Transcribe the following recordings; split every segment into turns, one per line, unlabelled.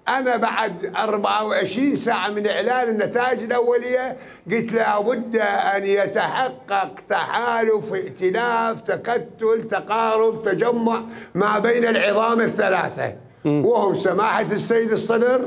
أنا بعد 24 ساعة من إعلان النتائج الأولية قلت لابد أن يتحقق تحالف، ائتلاف، تكتل، تقارب، تجمع ما بين العظام الثلاثة، وهم سماحة السيد الصدر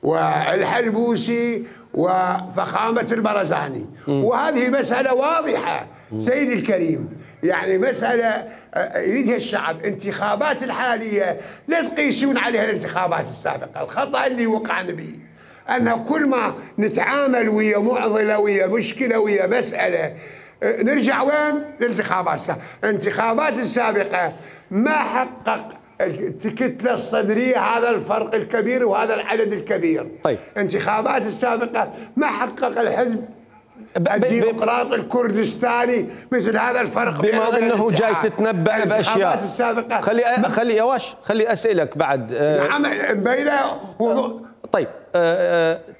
والحلبوسي وفخامة البرزاني. وهذه مسألة واضحة سيدي الكريم، يعني مسألة يريدها الشعب. انتخابات الحالية لا تقيسون عليها الانتخابات السابقة. الخطأ اللي وقعنا به أن كل ما نتعامل ويا معضلة ويا مشكلة ويا مسألة نرجع وين؟ الانتخابات السابقة. الانتخابات السابقة ما حقق الكتلة الصدرية هذا الفرق الكبير وهذا العدد الكبير.
طيب.
الانتخابات السابقة ما حقق الحزب الديمقراطي الكردستاني مثل هذا الفرق.
بما انه جاي تتنبأ باشياء
السابقة
خلي يا واش خلي اسالك بعد.
نعم بين وضوح.
طيب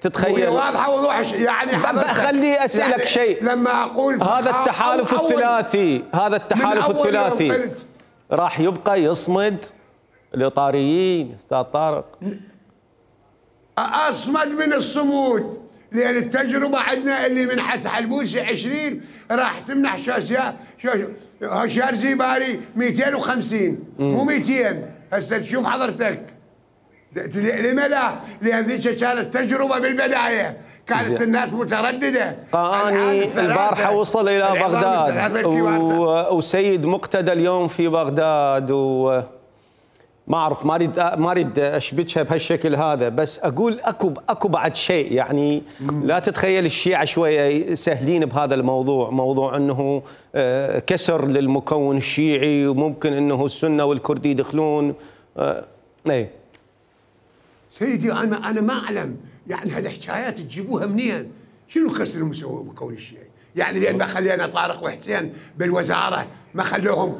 تتخيل
واضحه وضوح يعني
خلي اسالك يعني شيء.
لما اقول
هذا التحالف الثلاثي، هذا التحالف الثلاثي راح يبقى يصمد الاطاريين استاذ طارق؟
اصمد من الصمود، لان التجربه عندنا اللي منحت حلبوسي 20 راح تمنح هشام زيباري 250 مو 200. هسه تشوف حضرتك لما لا؟ لان ذيك كانت تجربه بالبدايه، كانت الناس متردده.
قاني البارحه وصل الى بغداد وسيد مقتدى اليوم في بغداد، ما اعرف ما اريد اشبكها بهالشكل هذا، بس اقول اكو بعد شيء يعني لا تتخيل الشيعة شويه سهلين بهذا الموضوع، موضوع انه كسر للمكون الشيعي وممكن انه السنه والكردي يدخلون. اي
سيدي انا ما اعلم يعني هالحكايات تجيبوها منين؟ شنو كسر المكون الشيعي؟ يعني لان ما خلينا طارق وحسين بالوزاره ما خلوهم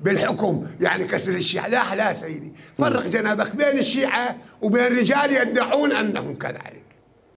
بالحكم يعني كسر الشيعة؟ لا سيدي، فرق جنابك بين الشيعة وبين رجال يدعون انهم كذلك.